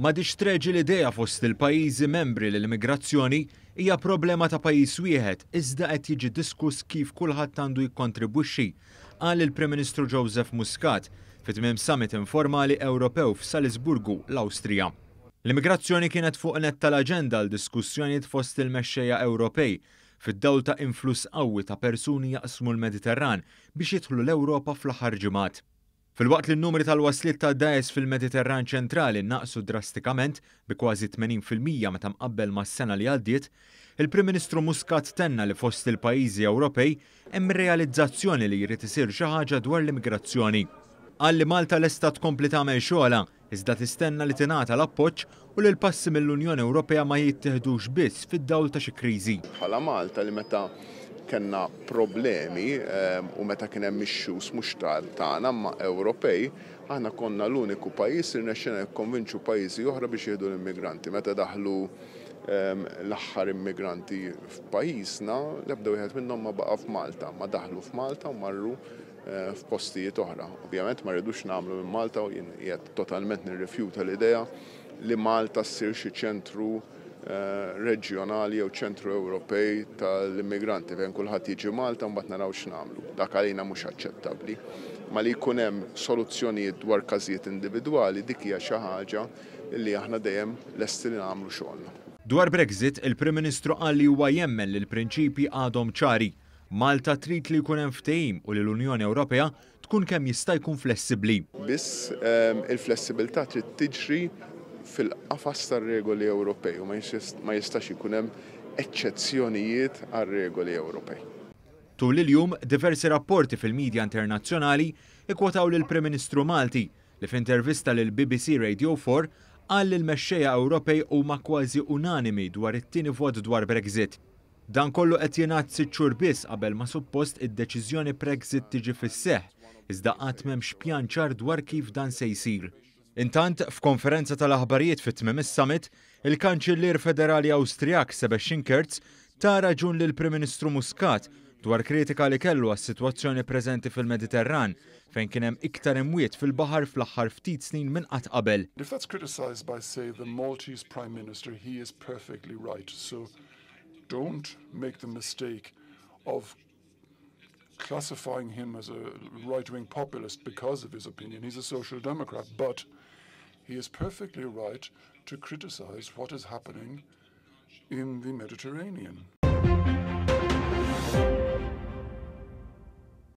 M'għadhiex treġi l-idea fost il-pajjiżi membri li l-immigrazzjoni hija problema ta' pajjiż wieħed iżda qed jiġi diskuss kif kulħadd għandu jikkontribwixxi, qal il-Prim Ministru Joseph Muscat fi tmiem summit informali Ewropew f'Salisburgu, l-Awstrija. L-immigrazzjoni kienet fuq nett tal-aġenda għal diskussjonijiet fost il-mexxejja Ewropej fid-dawl ta' influss qawwi ta' persuni jaqsmu l-Mediterran biex jidħlu l-Ewropa fl-aħħar ġimgħat. Filwaqt li n-numri tal-wasliet ta' dgħajjes fil-Mediterran ċentrali naqsu drastikament bi kważi 80% meta mqabbel mas-sena li għaddiet, il-Prim Ministru Muscat tenna li fost il-pajjiżi Ewropej hemm realizzazzjoni li jrid isir xi ħaġa dwar l-immigrazzjoni. Qal li Malta lesta tkompli tagħmel xogħolha, iżda tistenna li tingħata l-appoġġ u li l-passi mill-Unjoni Ewropea ma jittieħdux biss fid-dawl ta' xi kriżi. Bħala Malta li meta kellna problemi u meta kien hemm issues mhux tagħna imma Ewropej, aħna konna l-uniku pajjiż li rnexxielna nikkonvinċu pajjiżi oħra biex jieħdu l-immigranti. Meta daħlu l-aħħar immigranti f'pajjiżna, l-ebda wieħed minnhom ma baqa' f'Malta, ma daħlu f'Malta u marru f'postijiet oħra. Ovvjament ma rridux nagħmlu minn Malta u jien qiegħed totalment nirrifjuta l-idea li Malta ssir xi ċentru reġjonali jew ċentru Ewropej tal-immigranti fejn kulħadd jiġi Malta u mbagħad naraw x'nagħmlu. Dak għalina mhux aċċettabbli. Ma li jkun hemm soluzzjonijiet dwar każijiet individwali dik hija xi ħaġa li aħna dejjem lesti li nagħmlu xogħolna. Dwar Brexit, il-Prim Ministru qal li huwa jemmen li l-prinċipji għadhom ċari. Malta trid li jkun hemm ftehim u li l-Unjoni Ewropea tkun kemm jista' jkun flessibbli. Biss il-flessibilità trid tiġri fil-qafas tar-regoli Ewropej u ma jistax ikun hemm eċċezzjonijiet għar-regoli Ewropej. Tul il-jum, diversi rapporti fil-midja internazzjonali ikkwotaw lill-Prim Ministru Malti li f'intervista lill-BBC Radio 4 qal li l-mexxejja Ewropej huma kważi unanimi dwar it-tieni vot dwar Brexit. Dan kollu qed jingħad sitt xhur biss qabel ma suppost id-deċiżjoni Brexit tiġi fis-seħħ, iżda għad m'hemmx pjan ċar dwar kif dan se jsir. Intant, f'konferenza tal-aħbarijiet fi tmiem is-summit, il-Kanċillier Federali Awstrijak Sebastian Kurz ta raġun lill-Prim Ministru Muscat dwar kritika li kellu għas-sitwazzjoni preżenti fil-Mediterran, fejn kien hemm iktar imwiet fil-baħar fl-aħħar ftit snin minn qatt qabel. If that's criticized by, say, the Maltese Prime Minister, he is perfectly right. So don't make the mistake of classifying him as a right-wing populist because of his opinion. He's a social democrat, but he is perfectly right to criticize what is happening in the Mediterranean.